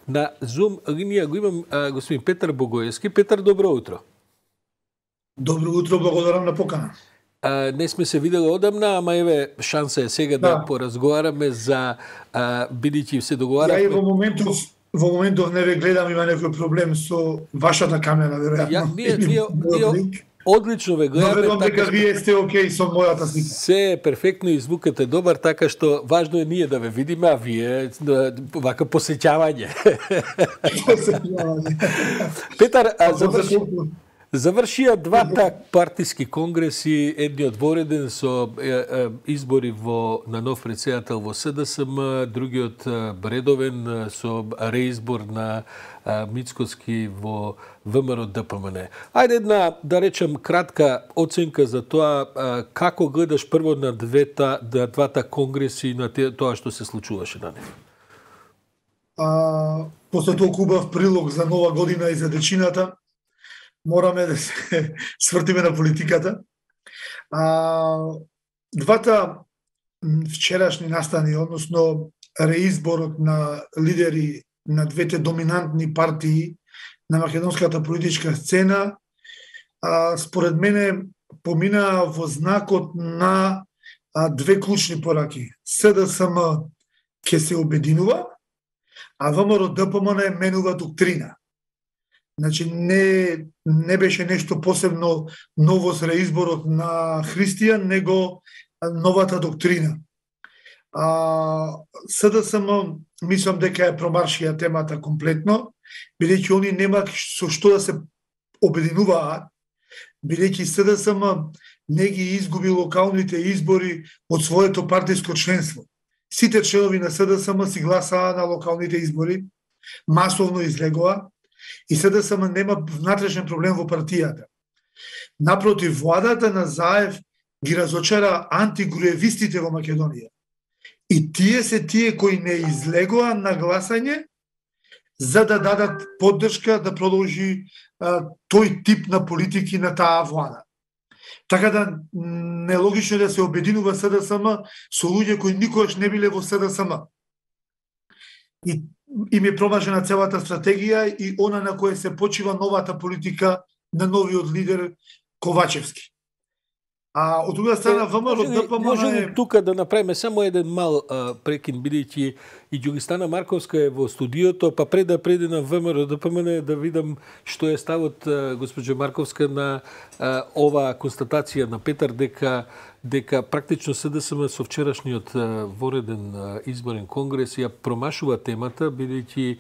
На Zoom линија го имам господин Петар Богоевски. Петар, добро утро. Добро утро, благодарам на покана. Не сме се видели одамна, ама еве шанса е сега да поразговараме за бидејќи се договараме. Ја и во моментов не ве гледам, има некој проблем со вашата камера, веројатно. Ние одлично ве гледаме. Верувам дека вие сте окей со мојата слика. Се перфектно и звукот е добар, така што важно е ние да ве видиме, а вие вака посеќавање. Петар, завршија двата партиски конгреси, едниот вореден со избори на нов претседател во СДСМ, другиот редовен со реизбор на Мицкоски во ВМРО ДПМН. Ајде една, да речем, кратка оценка за тоа како гледаш прво на двата конгреси и на тоа што се случуваше на нив. После толку убав прилог за нова година и за дечината, мораме да се свртиме на политиката. Двата вчерашни настани, односно реизборот на лидери на двете доминантни партии на македонската политичка сцена, според мене помина во знакот на две клучни пораки. СДСМ ќе се обединува, а ВМРО ДПМН менува доктрина. Значи, не беше нешто посебно ново с реизборот на Христијан, него новата доктрина. СДСМ, мислам дека е промаршија темата комплетно, бидејќи они нема со што да се обединуваат, бидејќи СДСМ не ги изгуби локалните избори од своето партиско членство. Сите членови на СДСМ си гласаа на локалните избори, масовно излегоа, и СДСМ нема внатрешен проблем во партијата. Напротив, владата на Заев ги разочара антигруевистите во Македонија. И тие се тие кои не излегоа на гласање за да дадат поддршка да продолжи тој тип на политики на таа влада. Така да нелогично да се обединува СДСМ со луѓе кои никогаш не биле во СДСМ. И им е промажена целата стратегија и она на која се почива новата политика на новиот лидер Ковачевски. А од друга страна ВМРО ДПМН може тука да направиме само еден мал прекин, бидејќи и Ѓугистана Марковска е во студиото, па пред да преде на ВМРО ДПМН да видам што е ставот госпоѓа Марковска на оваа констатација на Петар дека практично СДСМ со вчерашниот вореден изборен конгрес ја промашува темата, бидејќи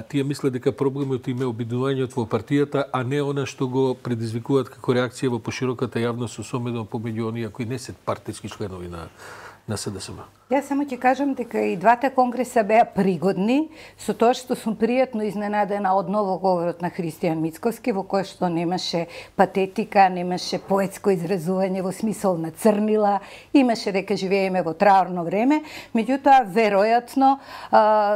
тие мислат дека проблемот им е обидувањето во партијата, а не она што го предизвикуваат како реакција во пошироката јавност, особено помеѓу оние кои не се партиски членови на СДСМ. Јас само ќе кажам дека и двата конгреса беа пригодни, со тоа што сум пријатно изненадена од ново говорот на Христијан Мицкоски, во кој што немаше патетика, немаше поетско изразување во смисол на црнила, имаше дека живееме во траурно време, меѓутоа веројатно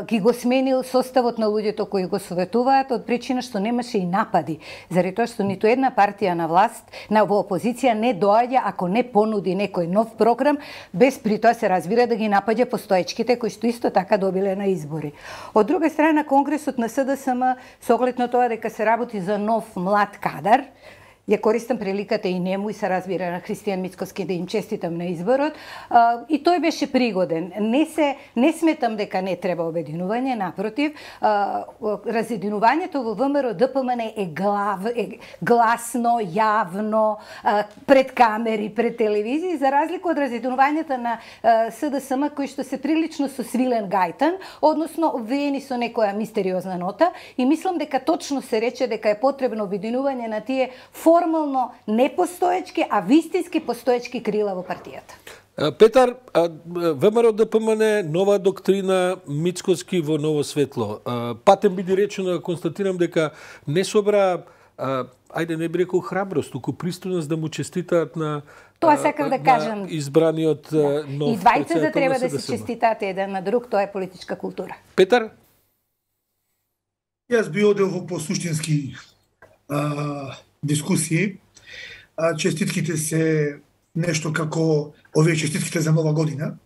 ги го сменил составот на луѓето кои го советуваат од причина што немаше и напади, заради тоа што ниту една партија на власт, во опозиција не доаѓа ако не понуди некој нов програм, без при тоа се разбира да ги напаѓа постоечките кои што исто така добиле на избори. Од друга страна, конгресот на СДСМ со оглед на тоа дека се работи за нов млад кадар, ја користам приликата и нему и се разбира на Христијан Мицкоски да им честитам на изборот, и тој беше пригоден. Не сметам дека не треба обединување, напротив, разединувањето во ВМРО ДПМН е гласно, јавно, пред камери, пред телевизии, за разлика од разединувањето на СДСМ кои што се прилично со свилен гајтан, односно обвиени со некоја мистериозна нота, и мислам дека точно се рече дека е потребно обединување на тие формално непостоечки, а вистински постоечки крила во партијата. Петар, ВМРО ДПМН, нова доктрина, Мицкоски во ново светло. Патем биде речено, констатирам дека не собра, ајде не би рекол храброст, туку пристойност да му честитаат на тоа сакав да кажам. Избраниот нов. И двајцата треба да се честитаат еден на друг, тоа е политичка култура. Петар? Јас би одел во посуштински дискусии. Честитките се нешто како овие честитките за нова година,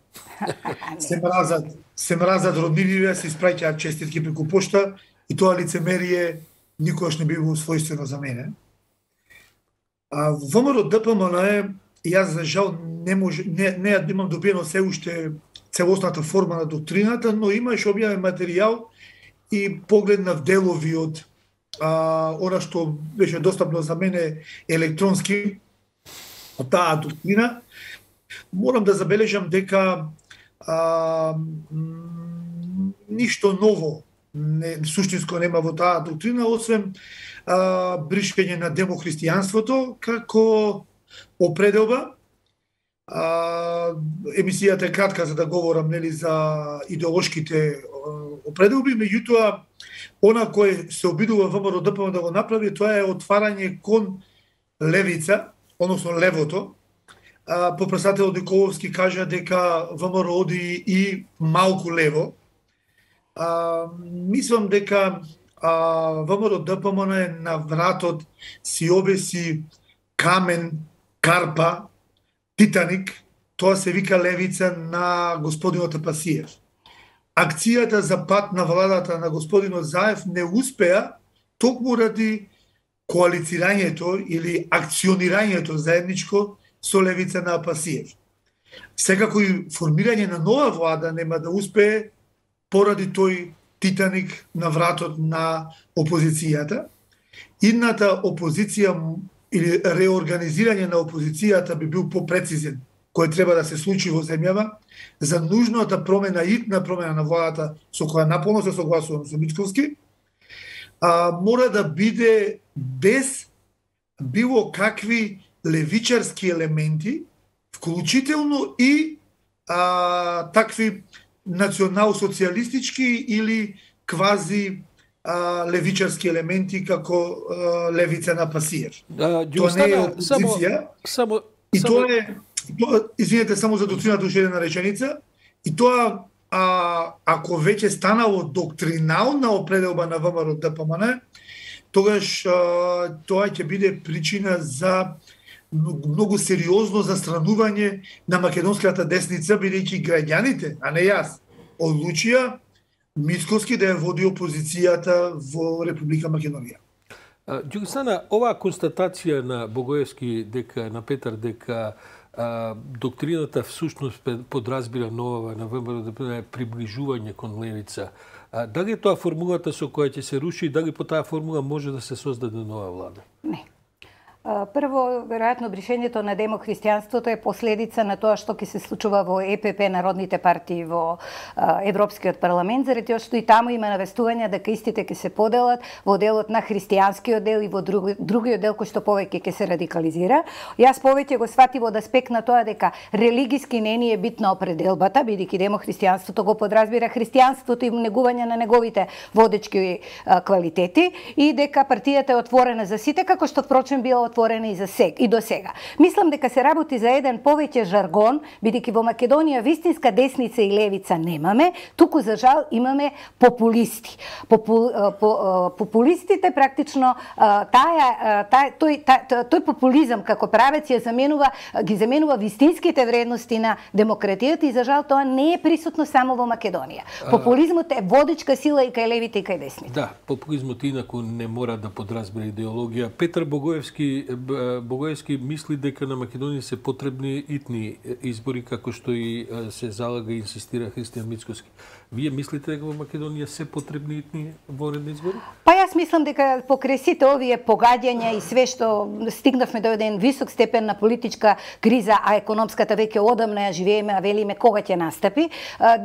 се мразат родниниве, се испраќаат честитки преку пошта и тоа лицемерие никогаш не било својствено за мене. А ВМРО ДПМН јас за жал не имам добиено се уште целосната форма на доктрината, но имаш објавен материјал и погледнав делови од она што беше достапно за мене електронски од таа доктрина. Морам да забележам дека ништо ново суштинско нема во таа доктрина, освен бришкање на демохристијанството како определба. Емисијата е кратка за да говорам за идеолошките определби, меѓутоа она кое се обидува ВМРО ДПМН да го направи, тоа е отварање кон левица, односно левото. Попредседателот Николовски кажа дека ВМРО оди и малку лево. Мислам дека ВМРО ДПМН на вратот си обеси камен, карпа, Титаник, тоа се вика левица на господинот Апасиев. Акцијата за пат на владата на господинот Заев не успеа токму ради коалицирањето или акционирањето заедничко со левица на Апасиев. Секако и формирање на нова влада нема да успее поради тој Титаник на вратот на опозицијата. Идната опозиција или реорганизирање на опозицијата би бил попрецизен, кој треба да се случи во земјава, за нужната промена, итна промена на владата, со која наполно се согласувам со Мицковски, мора да биде без било какви левичарски елементи, вклучително и такви национал-социјалистички или квази левичарски елементи како левица на Пасиев. Тоа не е опозиција. И тоа е, извинете само за доктрината уште една реченица, и тоа ако веќе станало доктринална определба на ВМРО ДПМН, тогаш тоа ќе биде причина за многу сериозно застранување на македонската десница, бидејќи граѓаните, а не јас, одлучија Мицковски да ја води опозицијата во Република Македонија. Ѓугостана, оваа констатација на Богоевски дека на Петар дека доктрината всушност подразбира нова на ВМРО ДПМН приближување кон левица. Дали тоа формулата со која ќе се руши, дали по таа формула може да се создаде нова влада? Не. Прво, веројатно, бришењето на демохристијанството е последица на тоа што ќе се случува во ЕПП, народните партии во Европскиот парламент, заради тоа што и таму има навестувања дека истите ќе се поделат во делот на христијанскиот дел и во другиот дел кој што повеќе ќе се радикализира. Јас повеќе го сватив од аспект на тоа дека религиски не ни е битна определбата, бидејќи демохристијанството го подразбира христијанството и негување на неговите водечки квалитети и дека партијата е отворена за сите, како што впрочем била отворена и до сега. Мислам дека се работи за еден повеќе жаргон, бидејќи во Македонија вистинска десница и левица немаме, туку за жал имаме популисти. Популистите практично тој популизам како правец ги заменува вистинските вредности на демократијата и за жал тоа не е присутно само во Македонија. Популизмот е водечка сила и кај левите и кај десните. Да, популизмот инаку не мора да подразбира идеологија. Петар Богоевски мисли дека на Македонија се потребни итни избори, како што и се залага и инсистира Христијан Мицковски. Вие мислите дека во Македонија се потребни итни воредни избори? Па јас мислам дека покрај сите овие погаѓања и све што стигнавме до еден висок степен на политичка криза, а економската веќе одамна ја живееме, а велиме кога ќе настапи,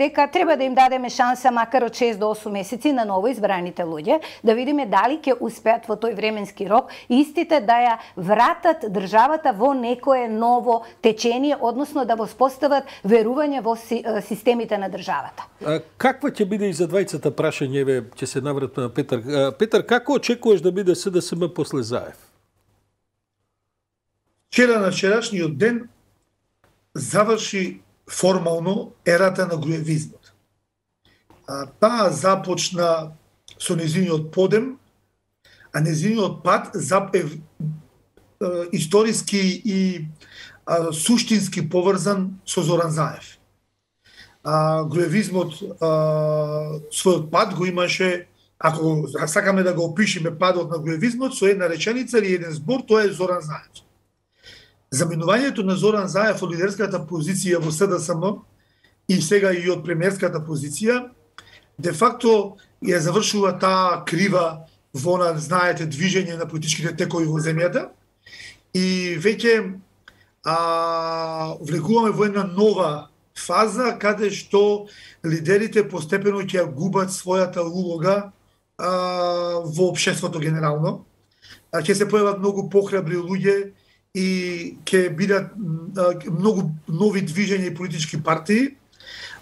дека треба да им дадеме шанса макар од 6 до 8 месеци на ново избраните луѓе, да видиме дали ќе успеат во тој временски рок истите да ја вратат државата во некое ново течение, односно да воспостават верување во системите на државата. Каква ќе биде и за двајцата прашање, ќе се навратам на Петар. Петар, како очекуваш да биде СДСМ после Заев? Вчера на вчерашниот ден заврши формално ерата на груевизмот. Таа започна со незиниот подем, а незиниот пат е историски и суштински поврзан со Зоран Заев. Груевизмот својот пат го имаше, ако сакаме да го опишеме падот на груевизмот со една реченица или еден збор, тоа е Зоран Заев. Заминувањето на Зоран Заев од лидерската позиција во СДСМ и сега и од премиерската позиција, де факто ја завршува таа крива во, знаете, движење на политичките текови во земјата и веќе влегуваме во една нова фаза каде што лидерите постепено ќе губат својата улога во општеството генерално. Ќе се појават многу похрабри луѓе и ќе бидат многу нови движења и политички партии.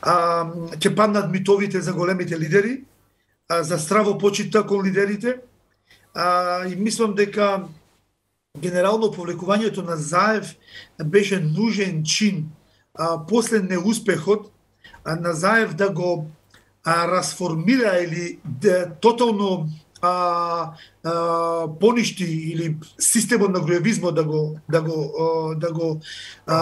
Ќе паднат митовите за големите лидери, за здраво почита кон лидерите. И мислам дека генерално повлекувањето на Заев беше нужен чин после неуспехот на Заев да го расформира или да тотално поништи или системот на груевизмот да го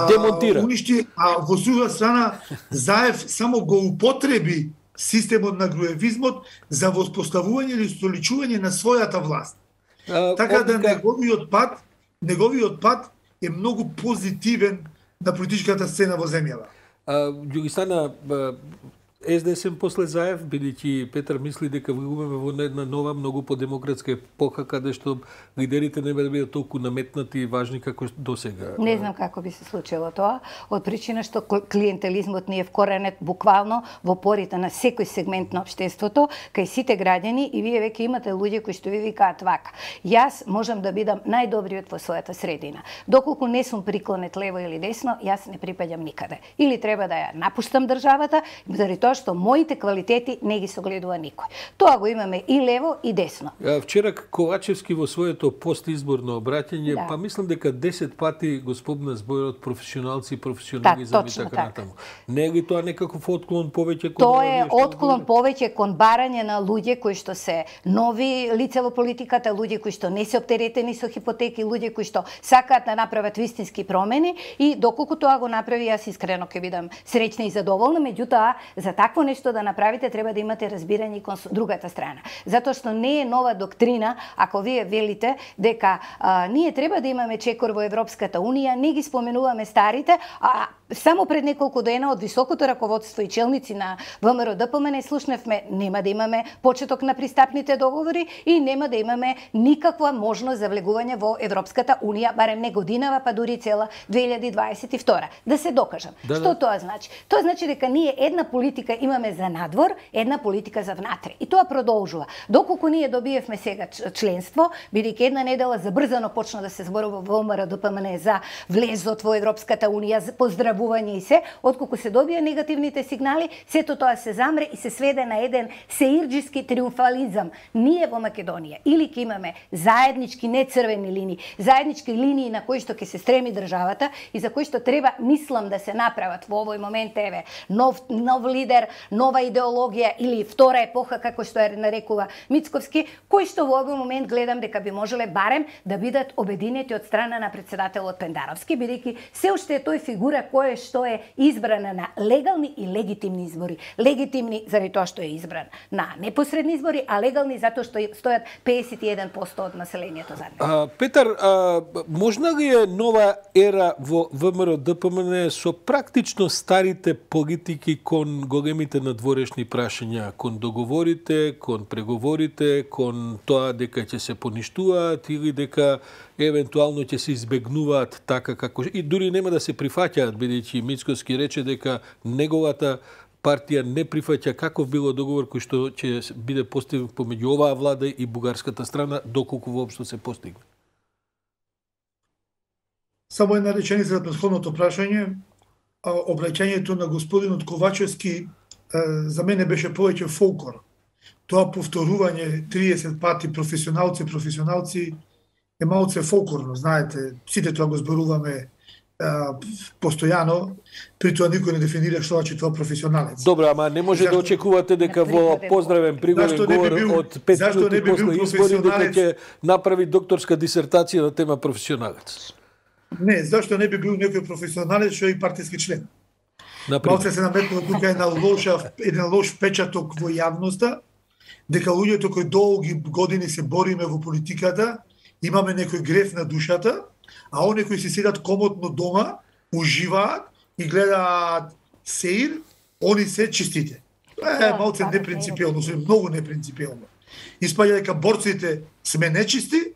демонтира, уништи, а во друга страна Заев само го употреби системот на груевизмот за воспоставување или столичување на својата власт. Така да неговиот пат е многу позитивен на политичката сцена во земјава. Ги стана СДСМ после Заев, бидејќи Петар мисли дека влегуваме во една нова, многу подемократска епоха, каде што лидерите не да бидат толку наметнати и важни како досега. Не знам како би се случило тоа, од причина што клиентелизмот ни е вкоренет буквално во порите на секој сегмент на општеството, кај сите граѓани, и вие веќе имате луѓе кои што ви викаат вака: јас можам да бидам најдобриот во својата средина. Доколку не сум приклонет лево или десно, јас не припаѓам никаде. Или треба да ја напуштам државата, заради тоа што моите квалитети не ги согледува никој. Тоа го имаме и лево и десно. Вчера Ковачевски во своето постизборно обраќање, па мислам дека 10 пати го спомна зборот професионалци и професионализам и така натаму. Не е ли тоа некаков отклон повеќе кон тоа е отклон повеќе кон барање на луѓе кои што се нови лица во политиката, луѓе кои што не се оптеретени со хипотеки, луѓе кои што сакаат да направат вистински промени, и доколку тоа го направи, јас искрено ќе бидам среќна и задоволна. Меѓутоа, за такво нешто да направите треба да имате разбирање кон другата страна. Затоа што не е нова доктрина ако вие велите дека ние треба да имаме чекор во Европската унија, не ги споменуваме старите, а само пред неколку дена од високото раководство и челници на ВМРО ДПМН слушнавме нема да имаме почеток на пристапните договори и нема да имаме никаква можност за влегување во Европската унија, барем не годинава, па дури цела 2022. Да се докажам. Што тоа значи? Тоа значи дека ние една политика имаме за надвор, една политика за внатре. И тоа продолжува. Доколку ние добиевме сега членство, бидејќи една недела забрзано почна да се зборува во ВМРО ДПМН за влезот во Европската унија, за поздравување и се, отколку се добија негативните сигнали, сето тоа се замре и се сведе на еден сеирџиски триумфализам. Ние во Македонија или ќе имаме заеднички, не црвени линии, заеднички линии на кои што ќе се стреми државата и за кои што треба, мислам, да се направат во овој момент, еве, нов лидер, нова идеологија или втора епоха, како што ја нарекува Мицковски, кои што во овој момент гледам дека би можеле барем да бидат обединети од страна на претседателот Пендаровски, бидејќи се уште е тој фигура која што е избрана на легални и легитимни избори. Легитимни заради тоа што е избран на непосредни избори, а легални затоа што стојат 51% од населението за него. Петар, можна ли е нова ера во ВМРО ДПМН со практично старите политики кон големите надворешни прашања, кон договорите, кон преговорите, кон тоа дека ќе се поништуваат или дека евентуално ќе се избегнуваат така како и дури нема да се прифаќаат, бидејќи Мицковски рече дека неговата партија не прифаќа каков било договор кој што ќе биде постигнат помеѓу оваа влада и бугарската страна, доколку воопшто се постигне. Само една реченица за претходното прашање. Обраќањето на господинот Ковачевски за мене беше повеќе фолклор. Тоа повторување 30 пати професионалци е малце фолклорно, знаете, сите тоа го зборуваме постојано, при тоа никој не дефинира што значи тоа професионалец. Добро, ама не може да очекувате дека во поздравен приголен говор од 5 минути после избори дека ќе направи докторска дисертација на тема професионалец. Не, зашто не би бил некој професионалец што е и партиски член. Малце се наметнува тука еден лош впечаток во јавноста, дека луѓето кои долги години се бориме во политиката, имаме некој греф на душата, а оние кои се седат комотно дома, уживаат и гледаат сеир, они се чистите. Малце непринципиелно, многу непринципиелно. Испаѓа дека борците сме нечисти,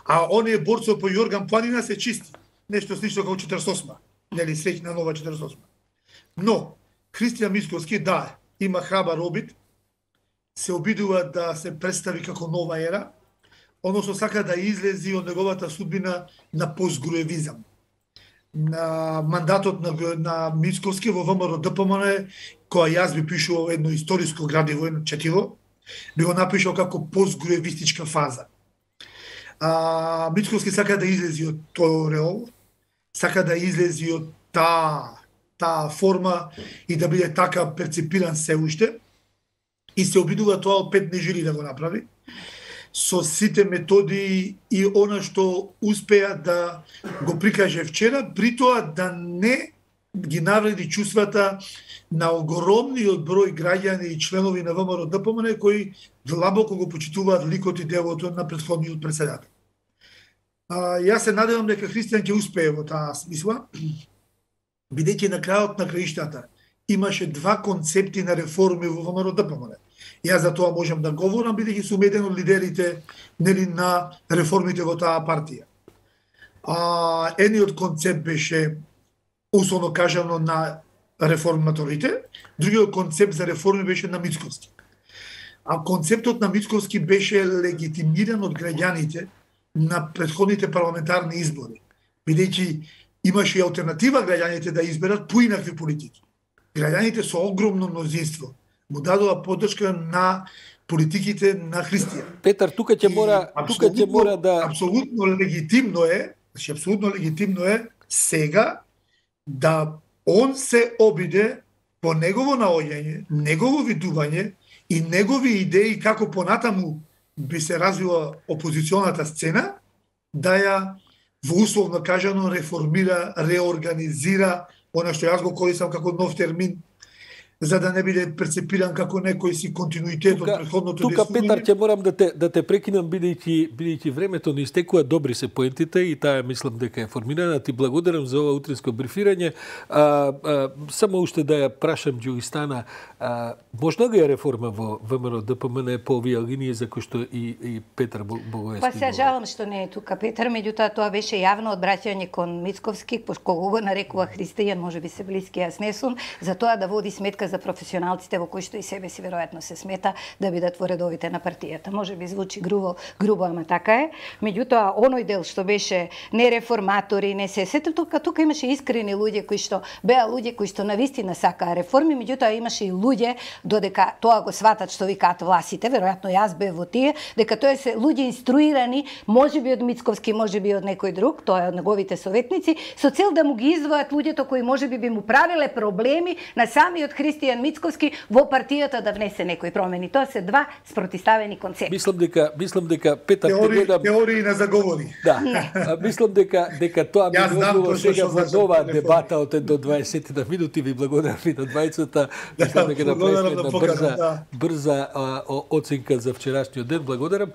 а оние борци по Јорган Планина се чисти. Нешто слично како 48-ма. Нели, среќна нова 48-ма. Но, Христијан Мицковски, да, има храбар обид, се обидува да се представи како нова ера, односно сака да излези од неговата судбина на постгруевизам. На мандатот на Мицковски во ВМРО ДПМН, која јас би пишувал едно историско градиво, едно четиво, би го напишал како постгруевистичка фаза. Мицковски сака да излези од тој ореол, сака да излези од таа форма и да биде така перцепиран се уште, и се обидува тоа од 5 нежели да го направи, со сите методи и она што успеа да го прикаже вчера, при тоа да не ги навреди чувствата на огромниот број граѓани и членови на ВМРО ДПМН кои длабоко го почитуваат ликот и делото на претходниот председател. Јас се надевам дека Христијан ќе успее во таа смисла, бидејќи на крајот на краиштата имаше два концепти на реформи во ВМРО ДПМН. Јас за тоа можам да говорам, бидејќи сум еден од лидерите на реформите во таа партија. Едниот концепт беше, условно кажано, на реформаторите, другиот концепт за реформи беше на Мицковски. А концептот на Мицковски беше легитимиран од граѓаните на претходните парламентарни избори, бидејќи имаше и алтернатива граѓаните да изберат поинакви политики. Граѓаните со огромно мнозинство му дадоа поддршка на политиките на Христијан. Петар, тука ќе мора да апсолутно легитимно е сега да он се обиде по негово наоѓање, негово видување и негови идеи како понатаму би се развила опозиционата сцена, да ја во условно кажано реформира, реорганизира, она што јас го користам како нов термин, за да не биде перцепиран како некој си континуитет од претходното действување. Тука, Петар, ќе морам да те прекинам, бидејќи времето не истекува, добри се поентите и таа мислам дека е формирана. Ти благодарам за ова утринско брифирање. Само уште да ја прашам Ѓугистана, можна ли е реформа во ВМРО ДПМН по овие линии за кои што и Петар Богоевски? Па се жалам што не е тука Петар, меѓутоа тоа беше јавно одбраќање кон Мицковски, кога го нарекува Христијан, можеби се блиски, јас не сум, за тоа да води сметка за професионалците во кои што и себе си веројатно се смета да бидат во редовите на партијата. Може би звучи грубо, ама така е. Меѓутоа, оној дел што беше не реформатори, не се сето, тука имаше искрени луѓе кои што беа луѓе кои што навистина сакаа реформи, меѓутоа имаше и луѓе додека тоа го сватат што викаат власите, веројатно јас бев во тие, дека тоа се луѓе инструирани, можеби од Мицковски, можеби од некој друг, тоа е од неговите советници, со цел да му ги издвојат луѓето кои можеби би му правиле проблеми на самиот Христијан Мицковски во партијата да внесе некои промени. Тоа се два спротиставени концепти. Мислам дека Петар теории на заговори. Да. Мислам дека тоа би било сега во нова дебата од до 20 на минути. Ви благодарам и на двајцата. Мислам дека направивме една брза оценка за вчерашниот ден. Благодарам.